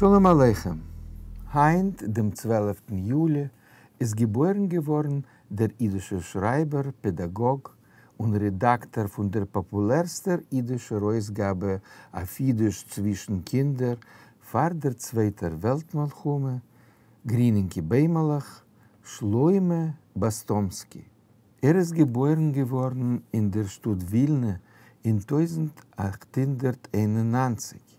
שלום עליכם! היינט דעם צוועלפטן יולי איז געבוירן געווארן דער אידישער שרייבער, פעדאגאג און רעדאקטאר פון דער פאפולערסטער אידישער אויסגאבע אויף אידיש צווישן קינדער פאר דער צווייטער וועלט מלחמה, גרינינקע ביימעלעך, שלמה באסטאמסקי. ער איז געבוירן געווארן אין דער שטאט ווילנע אין 1891.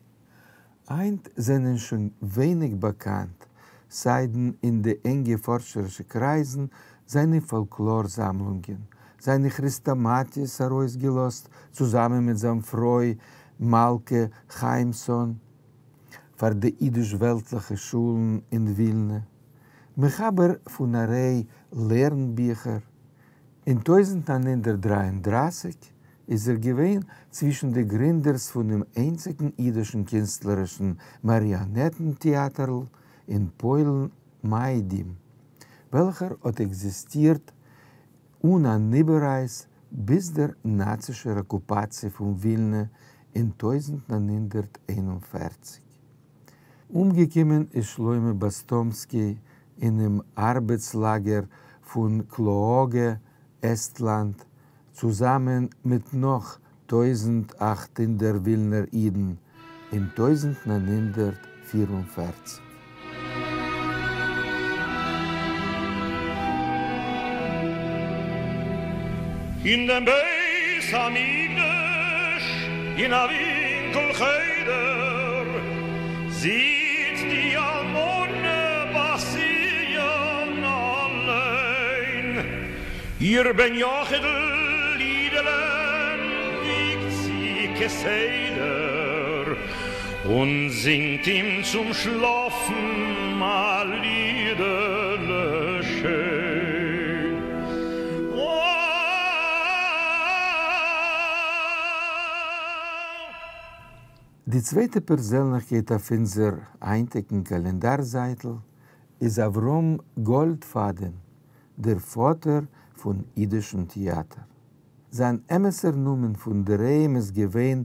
היינט זענען שוין ווייניג באקאנט, סיידן אין די ענגע פארשערישע קרייזן, זיינע פאלקלאר זאמלונגען, זיינע כרעסטאמאטיעס ארויסגעלאזט צוזאמען מיט זיין פרוי מלכה חיימסאן פאר די אידיש-וועלטליכע שולן אין ווילנע, מחבר פון א ריי לערנביכער. אין 1933 איז ער געווען צווישן די גרינדערס פונעם איינציגן אידישן קינסטלערישן מאריאנעטן-טעאטערל אין פוילן מיידים, וועלכער האט עקזיסטירט אן אן איבעררייס ביז דער נאצישער אקופאציע פון ווילנע אין 1941. אומגעקומען איז שלמה באסטאמסקי אינעם ארבעטס-לאגער פון קלאאגע, עסטלאנד, צוזאמען מיט נאך 1800 ווילנער אידן אין 1944. אין דעם בית המקדש אין א ווינקל חדר זיצט די אלמנה בת ציון אליין, איר בן יחיד'ל אידעלען וויגט זי כסדר און זינגט אים צום שלאפן א לידעלע שיין. די צווייטע פערזענליכקייט אויף אונזער היינטיגן קאלענדאר זייטל איז אברהם גאלדפאדען, דער פאטער פון אידישן טעאטער. זיין אמת'ער נאמען פון דערהיים איז געווען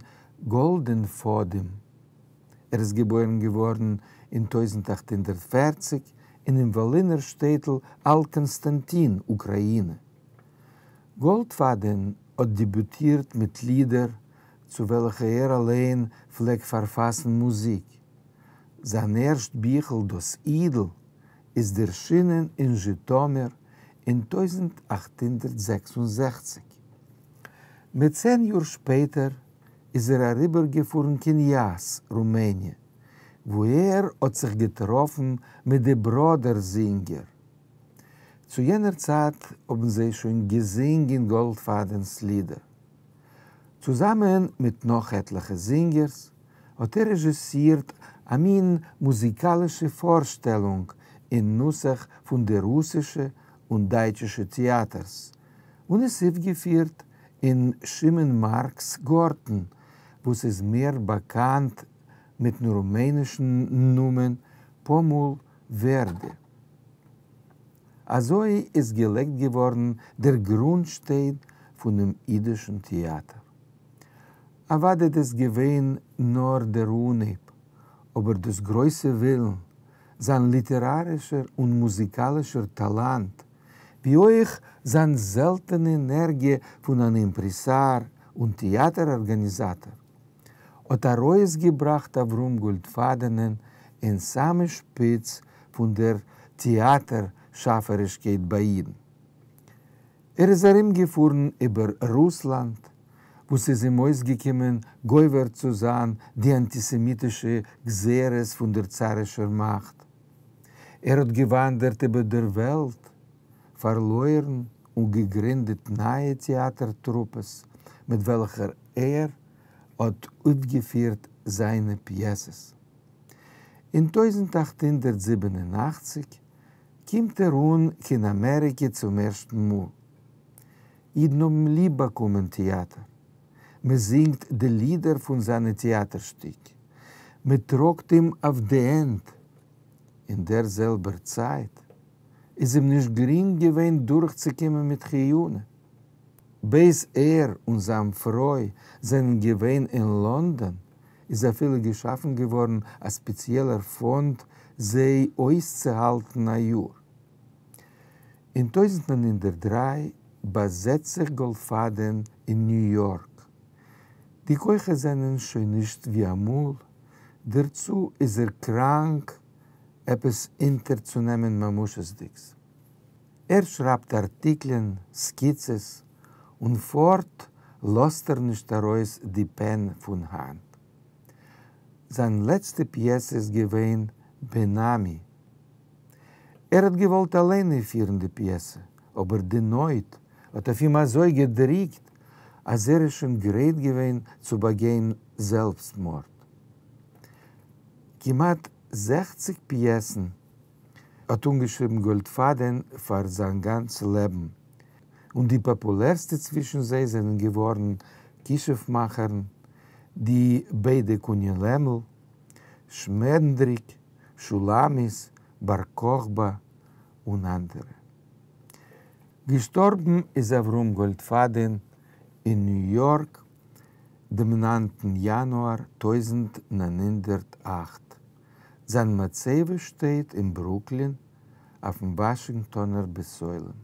גאלדענפאדים. ער איז געבוירן געווארן אין 1840 אינעם וואלינער שטעטל אלט-קאנסטאנטין, אוקראינע. גאלדפאדען האט דעביוטירט מיט לידער צו וועלכע ער אליין פלעגט פארפאסן מוזיק. זיין ערשט ביכל דאס אידל איז דערשינען אין זשיטאמיר אין 1866. מיט צען יאר שפעטער איז ער אריבערגעפארן קיין יאס, רומעניע, וואו ער האט זיך געטראפן מיט די בראדער זינגער. צו יענער צייט האבן זיי שוין געזינגען גאלדפאדענ'ס לידער. צוזאמען מיט נאך עטליכע זינגערס האט ער רעזשיסירט א מין מוזיקאלישע פארשטעלונג אין נוסח פון די רוסישע און דייטשישע טעאטערס, און עס אויפגעפירט אין שמעון מארקס גארטן, וואס איז מער באקאנט מיטן רומענישן נאמען פאמול ווערדע. אזוי איז געלייגט געווארן דער גרונטשטיין פונעם אידישן טעאטער. אוודאי דאס געווען נאר דער אנהייב, אבער דאס גרויסע ווילן, זיין ליטערארישער און מוזיקאלישער טאלאנט, ווי אויך זיין זעלטענע ענערגיע פון אן אימפרעסאר און טעאטער ארגאניזאטאר, האט ארויסגעבראכט אברהם גאלדפאדענען אין סאמע שפיץ פון דער טעאטער שאפערישקייט ביי אידן. ער איז ארומגעפארן איבער רוסלאנד, וואו ס'איז אים אויסגעקומען גובר צו זיין די אנטיסעמיטישע גזירות פון דער צארישער מאכט. ער האט געוואנדערט איבער דער וועלט, פארלוירן און געגרינדעט נייע טעאטער טרופעס מיט וועלכער ער האט אויפגעפירט זיינע פיעסעס. אין 1887 קומט ער אן קיין אמעריקע צום ערשטן מאל. אידן האבן ליב באקומען טעאטער. מען זינגט די לידער פון זיינע טעאטער שטיק. מען טראגט אים אויף די הענט. אין דער זעלבער צייט איז אים נישט גרינג געווען דורכצוקומען מיט חיונה. בעת ער און זיין פרוי זענען געווען אין לאנדאן, איז אפילו געשאפן געווארן א ספעציעלער פאנד זיי אויסצוהאלטן א יאר. אין 1903 באזעצט זיך גאלדפאדען אין ניו יארק. די כוחות זענען שוין נישט ווי אמאל, דערצו איז ער קראנק עפעס אונטערצונעמען ממשות'דיגס. ער שרייבט ארטיקלען, סקיצעס, און פארט לאזט ער נישט ארויס די פען פון האנט. זיין לעצטע פיעסע איז געווען בן-עמי. ער האט געוואלט אליין אויפפירן די פיעסע, אבער די נויט האט אויף אים אזוי געדריקט, אז ער איז שוין גרייט געווען צו באגיין זעלבסטמארד. כמעט זעכציג פיעסן האט אנגעשריבן גאלדפאדען פאר זיין גאנץ לעבן, און די פאפולערסטע צווישן זיי זענען געווארן כישוף-מאכערין, די ביידע קוני לעמל, שמענדריק, שולמית, בר כוכבא און אנדערע. געשטארבן איז אברהם גאלדפאדען אין ניו יארק דעם ניינטן יאנואר 1908. זיין מצבה שטייט אין ברוקלין אויפן וואשינגטאנער בית עולם.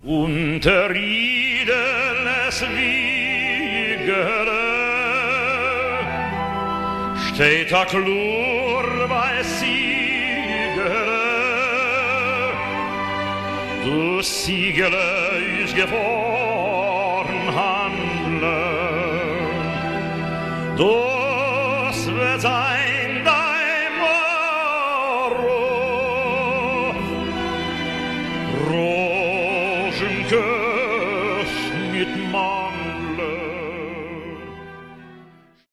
אונטער אידעלעס וויגעלע שטייט א קלאר ווייס ציגעלע, דאס ציגעלע איז געפארן האנדלען, דאס וועט זיין דיין בארוף, ראזשינקעס מיט מאק.